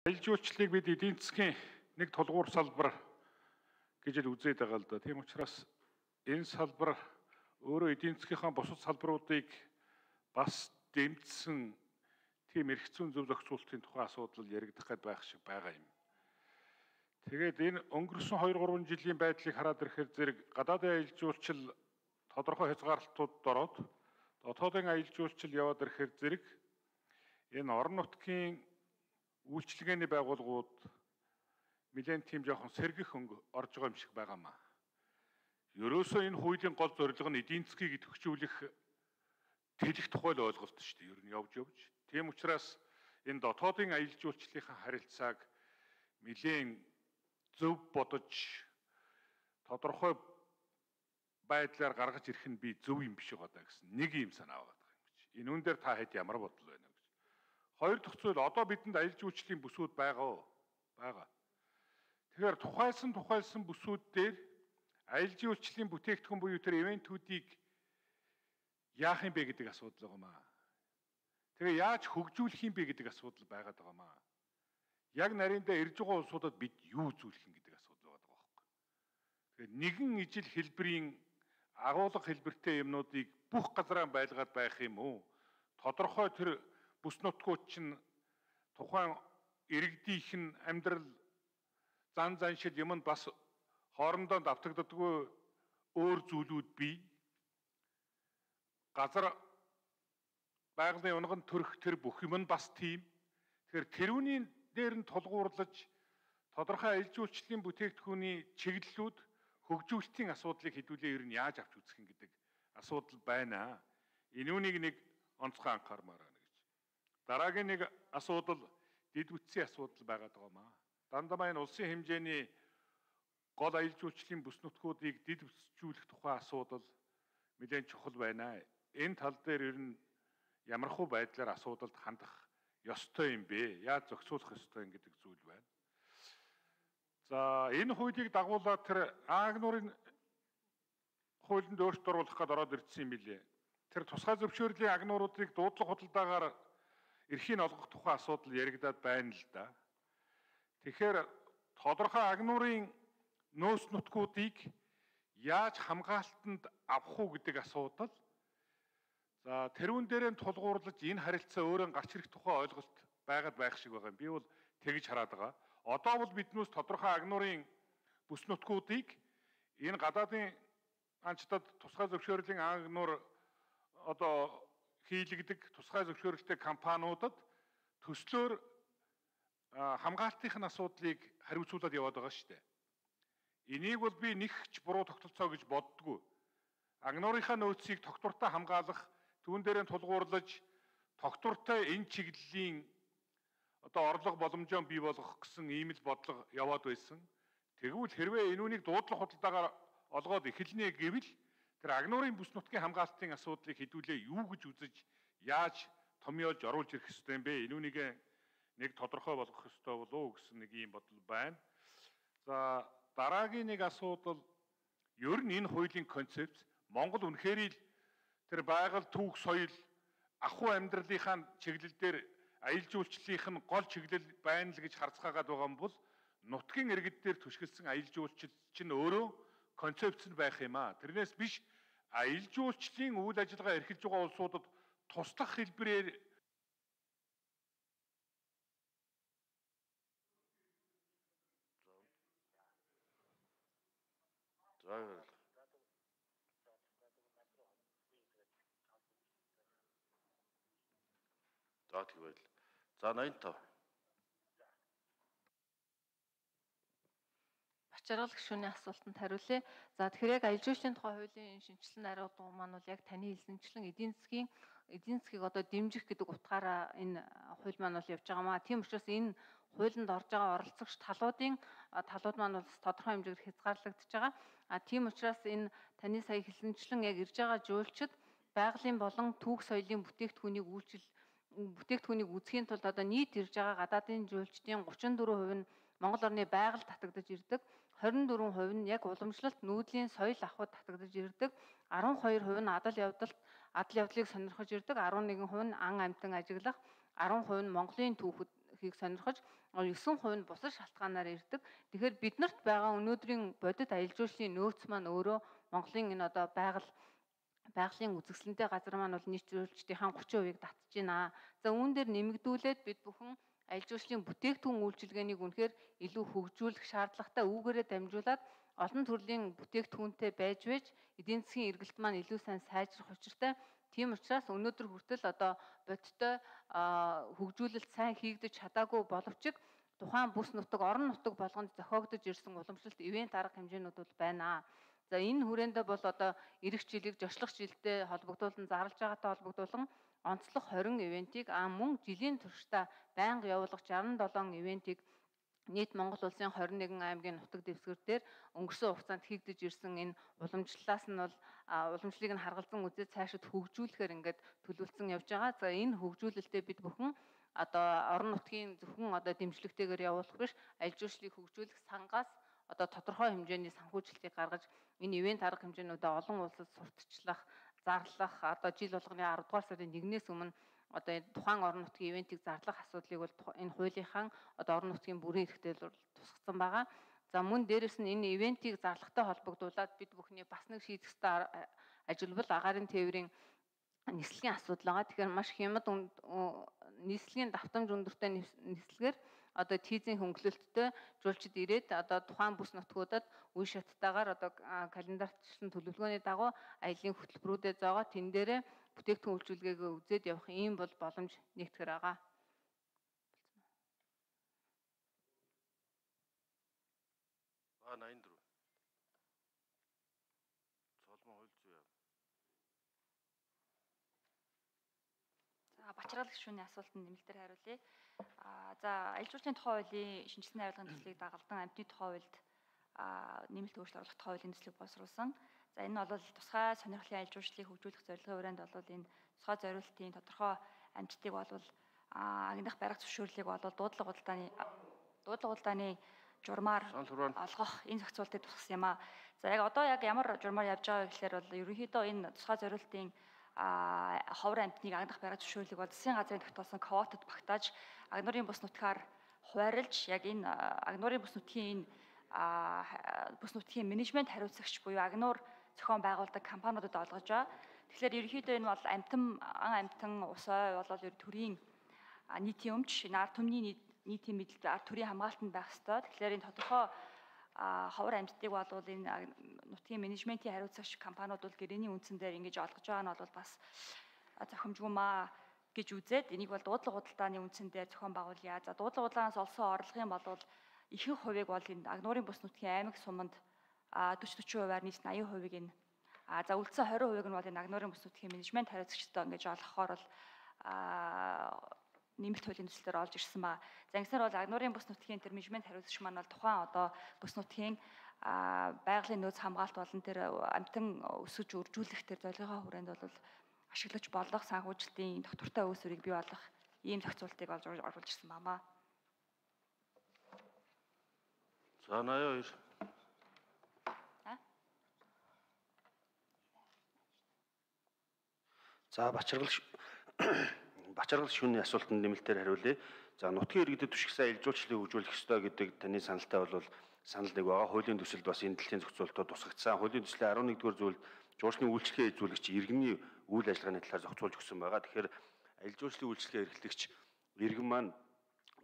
Аялал жуулчлалыг бид эдийн засгийн нэг тулгуур салбар гэж л үзээд байгаа л да. Тийм учраас энэ салбар өөрөө эдийн засгийнхаа бусад салбаруудыг бас дэмжсэн тийм эрх зүйн зөв зохицуулалтын тухай асуудал яригдах гээд байх шиг байгаа юм. Тэгээд энэ өнгөрсөн 2-3 жилийн байдлыг хараад ирэхээр зэрэг гадаадын аялал жуулчлал тодорхой хязгаарлалтуудад ороод дотоодын аялал жуулчлал яваад ирэхээр зэрэг энэ орон нутгийн үйлчилгээний байгууллагууд нэлээд тийм жоохон сэргэх өнгө орж байгаа юм шиг байгаамаа. Ерөөсөө энэ хуулийн гол зорилго нь эдийн засгийг идэвхжүүлэх тэлэх тухай л ойлголт шүү дээ. Ер нь явж. Тийм учраас энэ дотоодын аялал жуулчлалынхаа харилцааг нэлээд зөв бодож тодорхой байдлаар гаргаж ирэх нь би зөв юм биш байгаа даа гэсэн нэг юм санаа байгаа юм гэж. Энэ үн дээр та хэд ямар бодол байна гэж. Хоёр дахь зүйл одоо бидэнд аялал жуулчлалын бүсүүд байгаа. Тэгэхээр тухайлсан бүсүүд дээр аялал жуулчлалын бүтээгдэхүүн буюу тэр ивентүүдийг яах юм бэ гэдэг асуудал байгаамаа. Тэгээ яаж хөгжүүлэх юм бэ гэдэг асуудал байгаад байгаамаа. Яг нарийнда ирж байгаа улсуудад бид юу үзүүлэх юм гэдэг асуудал байгаа байхгүй. Тэгэхээр нэгэн ижил хэлбэрийн агуулга хэлбэртэй юмнуудыг бүх газараа байлгаад байх юм уу? Тодорхой тэр бүс нутгууд чинь тухайн иргэдийнх нь амьдрал заншил юм нь бас хоорондоо давтагддаггүй өөр зүйлүүд бий. Газар байгалийн унган төрөх тэр бүх юм нь бас тийм. Тэгэхээр тэрүүний дээр нь тулгуурлаж тодорхой аялал жуулчлалын бүтээгдэхүүний чиглэлүүд хөгжүүлэлтийн асуудлыг хэдүүлээ ер нь яаж авч үзэх юм гэдэг асуудал байна. Энүүнийг нэг онцгой анхаармаар байна гэж. Дараагийн нэг асуудал дэд үтсийн асуудал байгаад байгаамаа. Дандаа энэ улсын хэмжээний гол аялал жуулчлалын бүс нутгуудыг дэд үтсжүүлэх тухай асуудал нэлээд чухал байна. Энэ тал дээр ер нь ямархуу байдлаар асуудалд хандах ёстой юм бэ? Яаж зохицуулах ёстой юм гэдэг зүйл байна. За энэ хуулийг дагуулаад тэр аагнуурын хуулинд өөрчлөлт оруулах гээд ороод ирсэн юм билээ. Тэр тусгай зөвшөөрлийн агнууруудыг дуудлага худалдаагаар эрхийг олгох тухай асуудал яригадаад байна л да. Тэгэхээр тодорхой агнуурын нөөц нутгуудыг яаж хамгаалтанд авах уу гэдэг асуудал. За тэрүүн дээрээ тулгуурлаж энэ харилцаа өөрөө гарч ирэх тухай ойлголт байгаад байх шиг байгаа юм. Би бол тэгж хараад байгаа. Одоо бол биднээс тодорхой агнуурын бүс нутгуудыг энэ гадаадын анчтад тусгай зөвшөөрлийн агнуур одоо хийлэгдэг тусгай зөвшөөрөлтэй компаниудад төслөөр хамгаалтын асуудлыг хариуцуулаад яваад байгаа шүү дээ. Энийг бол би нэгч буруу тогтолцоо гэж боддгоо. Агнуурынхаа нөөцийг тогтвортой хамгаалах, түүн дээрээ тулгуурлаж тогтвортой энэ чиглэлийн одоо орлого боломжоо бий болгох гэсэн ийм л бодлого яваад байсан. Тэгвэл хэрвээ энүүнийг дуудлага худалдаагаар олгоод эхэлнэ гэвэл тэр агнуурын бүс нутгийн хамгаалтын асуудлыг хэдүүлээ юу гэж үзэж яаж томьёолж оруулж ирэх ёстой юм бэ? Энүүнийг нэг тодорхой болгох ёстой болов уу гэсэн нэг ийм бодол байна. За дараагийн нэг асуудал ер нь энэ хуулийн концепц Монгол үнэхээр л тэр байгаль түүх соёл ахуй амьдралынхаа чиглэл дээр аялал жуулчлалынх нь гол чиглэл байна л гэж харцгаагаад байгаа юм бол нутгийн иргэд дээр түшгэлсэн аялал жуулчлал чинь өөрөө концепц нь байх юм аа. Тэрнээс биш аялал жуулчлалын үйл ажиллагаа эрхэлж байгаа улсуудад туслах хэлбэрээр За тэгвэл за 85. Бачаргал гишүүний асуултанд хариулъя. За тэгэхээр яг аялал жуулчлалын тухай хуулийн шинжилсэн арга маань бол яг таны хэлсэнчлэн эдийн засгийг одоо дэмжих гэдэг утгаараа энэ хууль маань бол явж байгаамаа. Тийм учраас энэ хуулинд орж байгаа оролцогч талууд маань бол тодорхой хэмжээгээр хязгаарлагдж байгаа. Тийм учраас энэ таны сая хэлсэнчлэн яг ирж байгаа жуулчид байгалийн болон түүх соёлын бүтээгдэхүүнийг үзэхийн тулд одоо нийт ирж байгаа гадаадын жуулчдын 34% нь Монгол орны байгаль татагдаж ирдэг, 24% нь яг уламжлалт нүүдлийн соёл авахд татагдаж ирдэг, 12% нь адал явдлыг сонирхож ирдэг, 11% нь ан амьтан ажиглах, 10% нь Монголын түүхэд хийг сонирхож 9% нь бусад шалтгаанаар ирдэг. Тэгэхээр биднэрт байгаа өнөөдрийн бодит аялал жуулчлалын нөөц маань өөрөө Монголын энэ одоо байгалийн үзэсгэлэнтэй газар маань бол нийт жуулчдынхаа 30%-ийг татж байна. За үүн дээр нэмэгдүүлээд бид бүхэн аялал жуулчлалын бүтээгдэхүүн үйлчилгээнийг үнэхээр илүү хөгжүүлэх шаардлагатай үүгээрээ дамжуулаад олон төрлийн бүтээгдэхүүнтэй байж эдийн засгийн эргэлт маань илүү сайн сайжрах учиртай. Тийм учраас өнөөдөр хүртэл одоо бодиттой хөгжүүлэлт сайн хийгдэж чадаагүй боловч тухайн бүс нутаг, орон нутаг болгонд зохиогдож ирсэн уламжлалт ивент арга хэмжээнүүд бол байна. За энэ хүрээндээ бол одоо эх жилиг зочлох жилдээ холбогдуулан зарлж байгаатай холбогдуулан онцлог 20 ивентийг мөн жилийн туршдаа байнга явуулах 67 ивентийг нийт Монгол улсын 21 аймгийн нутаг дэвсгэр дээр өнгөрсөн хугацаанд хийгдэж ирсэн энэ уламжлалаас нь бол уламжлалыг нь харгалзан үзээд цаашид хөгжүүлэхээр ингээд төлөвлөсөн явж байгаа. За энэ хөгжүүлэлтэд бид бүхэн одоо орон нутгийн зөвхөн одоо дэмжлэгтэйгээр явуулах биш, аялал жуулчлалыг хөгжүүлэх сангаас одоо тодорхой хэмжээний санхүүжилтийг гаргаж энэ ивент арга хэмжээнүүдээ олон улсад сурталчлах, зарлах одоо жил болгоны 10 дугаар сарын 1-ээс өмнө одоо тухайн орон нутгийн ивентийг зарлах асуудлыг бол энэ хуулийнхаа одоо орон нутгийн бүрэн эрхтэй бол тусгасан байгаа. За мөн дээрэс нь энэ ивентийг зарлагтай холбогдуулаад бид бүхний бас нэг шийдэх ёстой ажил бол агаарын тээврийн нислэгийн асуудал байгаа. Тэгэхээр маш хямд нийслэлийн давтамж өндөртэй нислэгээр одоо тийзийн хөнгөлөлттэй жуулчид ирээд одоо тухайн бүс нутгуудад үе шаттайгаар одоо календартчлан төлөвлөгөөний дагуу аяллийн хөтөлбөрүүдэд зоогоо тэн дээрээ бүтээгдэхүүн үйлчилгээгээ үзээд явах ийм бол боломж нэгтгэр байгаа. Ба 84. Цолмон хууль зүй яа. За бачрал гишүүний асуултанд нэмэлтээр хариулъя. За аялал жуулчлалын тухай хуулийн шинжилсэн хариулгын төслийг дагалдан амьтны тухай хуульд нэмэлт өөрчлөлт оруулах тухай хуулийн төслийг боловсруулсан. За энэ нь бол тусгай сонирхлын аялал жуулчлалыг хөгжүүлэх зорилгын хүрээнд бол энэ тусгай зориултын тодорхой амьтдыг бол агнах барих зөвшөөрлийг бол дуудлага худалдааны журмаар олгох энэ зохицуултыг тусгасан юм аа. За одоо ямар журмаар явж байгаа гэхээр бол ерөнхийдөө энэ тусгай зориултын ховор амьтныг агнах барих зөвшөөрлийг бол засгийн газрын тогтоосон квотад багтааж агнуурын бус нутгаар хуваарлж яг энэ агнуурын бус нутгийн бус нутгийн менежмент хариуцагч буюу агнуур зохион байгуулдаг компаниудад олгож байгаа. Тэгэхээр ерөнхийдөө энэ бол амтан усой болол төрийн нийтийн өмч ард түмний нийтийн мэдэлд ард төрийн хамгаалтанд байх ёстой. Тэгэхээр энэ тодорхой ховор амьтдыг бол энэ нутгийн менежментийн хариуцагч компаниуд бол гэрээний үндсэн дээр ингэж олгож байгаа нь бол бас зохимжгүй маа гэж үзээд энийг бол дуудлага худалдааны үндсэн дээр зохион байгуулъя. За дуудлага худалдаанаас олсон орлогын бол ихэнх хувийг бол энэ агнуурын бус нутгийн аймаг суманд 40-40%-аар нийт 80%-ийг энэ за үлдсэн 20%-ийг нь бол энэ агнуурын бус нутгийн менежмент хариуцагчтай ингэж олгохоор бол нэмэлт хуулийн төслөөр олж ирсэн ба. За ингэснээр бол агнуурын бус нутгийн тэр менежмент хариуцагч маань бол тухайн одоо бус нутгийн байгалийн нөөц хамгаалт болон тэр амтан өсөж үржүүлэх тэр зорилгын хүрээнд бол ашиглаж болох санхүүжилтийн доктортой өөс үрийг бий болгох ийм зохицуултыг олж оруулж ирсэн бамаа. За 82. За бачаргал шүүний асуултанд нэмэлтээр хариулъя. За нутгийн иргэдэд түшигсэн аялал жуулчлалыг хөгжүүлэх ёстой гэдэг таны саналтай бол санал нэг байгаа. Хуулийн төсөлд бас энэ дэлхийн зохицуултууд тусгагдсан. Хуулийн төслийн 11-р зүйлд жуулчны үйлчлэгээ эзүүлэгч иргэний үйл ажиллагааны талаар зохицуулж өгсөн байгаа. Тэгэхээр аялал жуулчлалын үйлчлэгээ эрхлэгч иргэн маань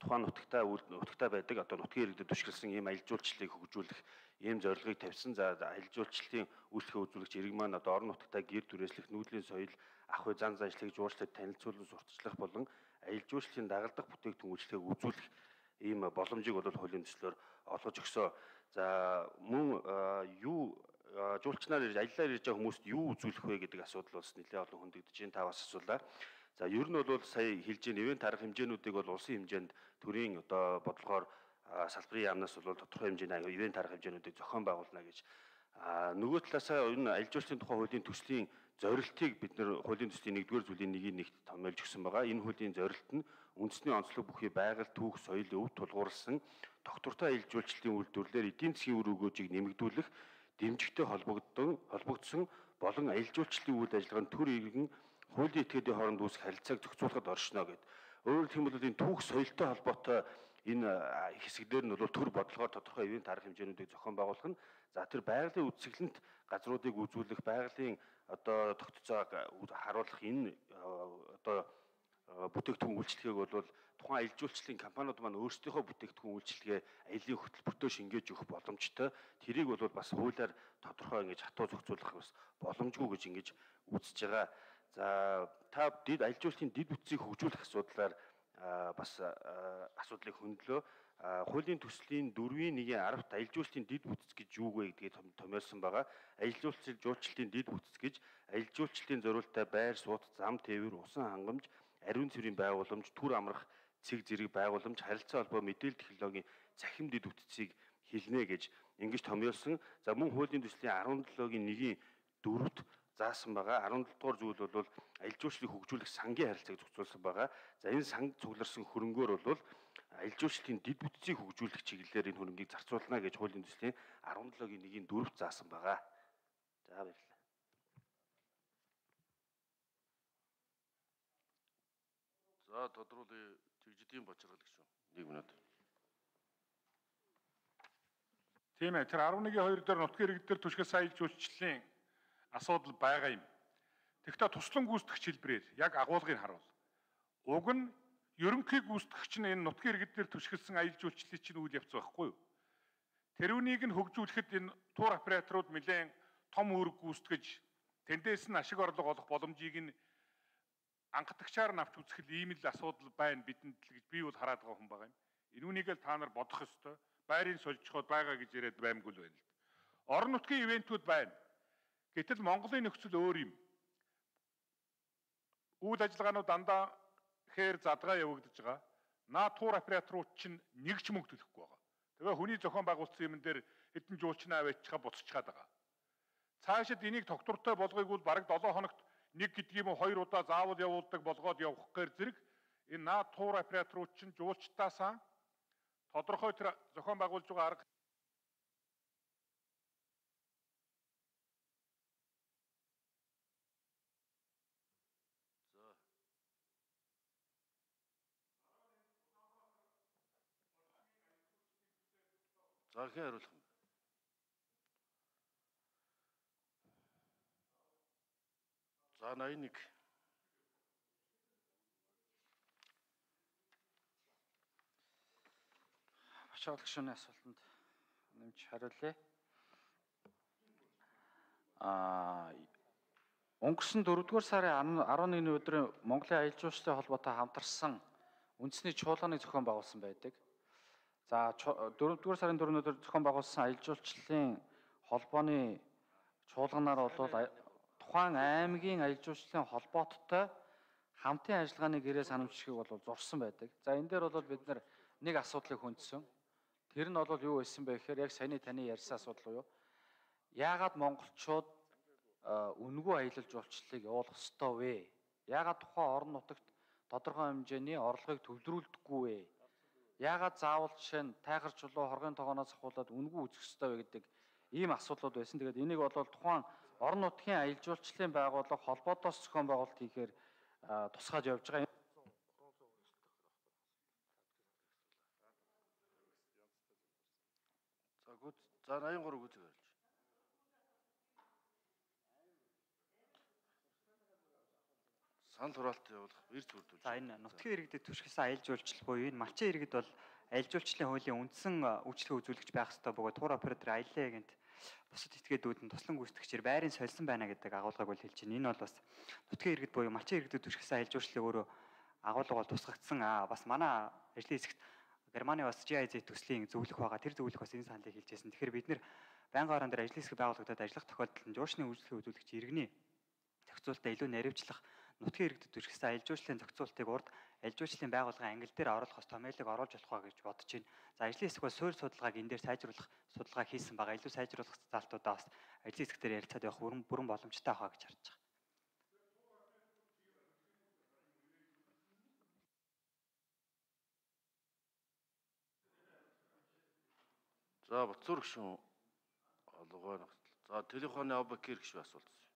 тухайн нутагтаа байдаг одоо нутгийн иргэдэд түшиглсэн ийм аялал жуулчлалыг хөгжүүлэх ийм зорилгыг тавьсан. За аялал жуулчлалын үйлчлэгээ үзүүлэгч иргэн маань одоо орон нутагтаа гэр түрээслэх, нүүдлийн соёл, ах уй зан заншлыг жуулчлалд танилцуулан сурталчлах болон аялал жуулчлалын дагалдах бүтээгдэхүүн үйлчлэгийг үзүүлэх ийм боломжийг бол хуулийн төслөөр олгож өгсөн. За мөн жуулчнаар аяллаар ирж байгаа хүмүүст юу үзүүлэх вэ гэдэг асуудал бас нэлээд олон хөндөгдөж байна. Та бас асуулаа. За ер нь бол сая хэлж байгаа ивент арга хэмжээнүүдийг бол улсын хэмжээнд төрийн одоо бодлогоор салбарын яамнаас бол тодорхой хэмжээний ивент арга хэмжээнүүдийг зохион байгуулна гэж. Нөгөө талаасаа энэ аялал жуулчлалын тухай хуулийн төслийн зорилтыг бид нэр хуулийн төслийн 1-р зүйлийн нэг томьёолж өгсөн байгаа. Энэ хуулийн зорилт нь үндэсний онцлог бүхий байгаль, түүх, соёл, өв тулгуурласан доктортой аялал жуулчлалын үйлдвэрлэлээр эдийн засгийн үр өгөөжийг нэмэгдүүлэх, дэмжигтэй холбогдсон болон аялал жуулчлалын үйл ажиллагаанд төр иргэн хуулийн этгээдийн хооронд үүсэх харилцааг зохицуулахад оршино гэд Өөрөөр хэлбэл энэ түүх соёлтой холбоотой энэ хэсэгдэр нь бол төр бодлогоор тодорхой ивент арга хэмжээнүүдийг зохион байгуулах нь за тэр байгалийн үзэсгэлэнт газруудыг үзүүлэх, байгалийн одоо тогтцоог харуулах энэ одоо бүтээгдэхүүн үйлчлэгийг бол тухайн аялал жуулчлалын компаниуд маань өөрсдийнхөө бүтээгдэхүүн үйлчлэгээ аяллийн хөтөлбөртөө шингээж өгөх боломжтой. Тэрийг бол бас хуулиар тодорхой ингэж хатуу зохицуулах бас боломжгүй гэж ингэж үзэж байгаа. За та аялал жуулчлалын дэд бүтцийг хөгжүүлэх асуудлаар бас асуудлыг хөндлөө. Хуулийн төслийн 4-1-10-т аялал жуулчлалын дэд бүтц гэж юу вэ гэдгийг томьёолсон байгаа. Аялал жуулчлалын дэд бүтц гэж аялал жуулчлалын зориулалтаа байр суут, зам тээвэр, усан хангамж, ариун цэврийн байгууламж, түр амрах цэг зэрэг байгууламж, харилцаа холбоо, мэдээлэл технологийн цахим дэд бүтцийг хэлнэ гэж ингэж томьёолсон. За мөн хуулийн төслийн 17-гийн 1-ийн 4-т заасан байгаа. 17 дугаар зүйл бол аялал жуулчлалыг хөгжүүлэх сангийн харилцааг зохицуулсан байгаа. За энэ санг цугларсан хөрөнгөөр бол аялал жуулчлалын дэд бүтцийг хөгжүүлэх чиглэлээр энэ хөрөнгийг зарцуулна гэж хуулийн төслийн 17-гийн 1-ийн 4-т заасан байгаа. За баярлалаа. За тодруулъя. Тэгжидийн бачиргалагч шүү. 1 минут. Тийм ээ. Тэр 11-2 дээр нутгийн иргэд дээр түшигэл аялал жуулчлалын асуудал байгаа юм. Тэгэхдээ туслан гүйцэтгэгч хэлбэрээр яг агуулгыг харуул. Уг нь ерөнхий гүйцэтгэгч нь энэ нутгийн иргэд дээр түшиглсэн аялал жуулчлалын чинь үйл явц байхгүй юу? Тэрүүнийг нь хөгжүүлэхэд энэ тур операторууд нэлээд том үүрэг гүйцэтгэж тэндээс нь ашиг орлого олох боломжийг нь анхдагчаар нь авч үзэх ийм л асуудал байна бидэнд л гэж би бол хараад байгаа хүн байгаа юм. Энүүнийг л та нар бодох ёстой. Байрын сольжход байгаа гэж яриад баймгүй л байна л. Орон нутгийн ивентүүд байна. Гэтэл Монголын нөхцөл өөр юм. Үйл ажиллагаанууд дандаа хээр задгаа явагдаж байгаа. Наа тур операторууд чинь нэг ч мөнгө төлөхгүй байгаа. Тэгээ хүний зохион байгуулсан юм дээр хэдэн жуулчнаа аваачгаа буцчихад байгаа. Цаашид энийг тогтвортой болгоёг бол бараг 7 хоногт нэг гэдэг юм уу 2 удаа заавал явуулдаг болгоод явах гээр зэрэг энэ наа тур операторууд чинь жуулчтаасаа тодорхой тэр зохион байгуулж байгаа арга За хэн хариулах юм? За 81. Бачиргалагч шүүний асуултанд нэмж хариулъя. Өнгөрсөн 4-р сарын 11-ний өдрийн Монголын аялал жуулчлалын холбоотой хамтарсан үндэсний чуулганыг зохион байгуулсан байдаг. За 4-р сарын 4-ний өдөр зохион байгуулсан аялал жуулчлалын холбооны чуулганаар бол тухайн аймгийн аялал жуулчлалын холбооттой хамтын ажиллагааны гэрээ санамжлагыг бол зурсан байдаг. За энэ дээр бол бид нэг асуудлыг хөндсөн. Тэр нь бол юу байсан бэ гэхээр яг саяны таны ярьсан асуудал юу? Яагаад монголчууд үнэгүй аялал жуулчлалыг явуулах ёстой вэ? Яагаад тухайн орон нутагт тодорхой хэмжээний орлогыг төвлөрүүлдэггүй вэ? Яагаад заавал жишээ нь тайхар чулуу хоргын тогооноос ахуулаад үнэгүй үзэх ёстой вэ гэдэг ийм асуудлууд байсан. Тэгээд энийг бол тухайн орон нутгийн аялал жуулчлалын байгууллага холбоотоос зохион байгуулалт хийхээр тусгаж явж байгаа. За 83 гүцэг харилж. Санал хураалт явуулах эрс бүрдүүлж. За энэ нутгийн иргэдэд түшиглсэн аялал жуулчлал буюу энэ малчин иргэд бол аялал жуулчлалын хуулийн үндсэн үйлчлэгээ үзүүлэгч байх ёстой бөгөөд тур оператор аяллаа гэнт бусад этгээдүүд нь туслан гүйцэтгэгчээр байрын сольсон байна гэдэг агуулгыг бол хэлж байна. Энэ бол бас нутгийн иргэд буюу малчин иргэдэд түшиглсэн аялал жуулчлалын өөрөө агуулга бол тусгагдсан. Бас манай ажлын хэсэгт Германы бас GIZ төслийн зөвлөх байгаа. Тэр зөвлөх бас энэ саналыг хэлж байсан. Тэгэхээр бид нэр байнгын орон дээр ажлын хэсэг байгуулагдаад ажиллах тохиолдолд жуучны үйлчлэгээ үзүүлэгч иргэний зохицуулалтаа илүү наривчлах нутгийн иргэдэд түшиглсэн аялал жуулчлалын зохицуултыг урд аялал жуулчлалын байгууллагын ангил дээр оруулах хэвээр томьёолыг оруулж болох ба гэж бодож байна. За ажлын хэсэг бол суурь судалгааг энэ дээр сайжруулах судалгаа хийсэн байгаа. Илүү сайжруулах залтуудаа бас ажлын хэсэг дээр ярилцаад явах бүрэн боломжтой байгаа гэж харж байна. За Батцуур гүшүүн олгоо нөхцөл. За телефоны Абакир гүшүү асуулт.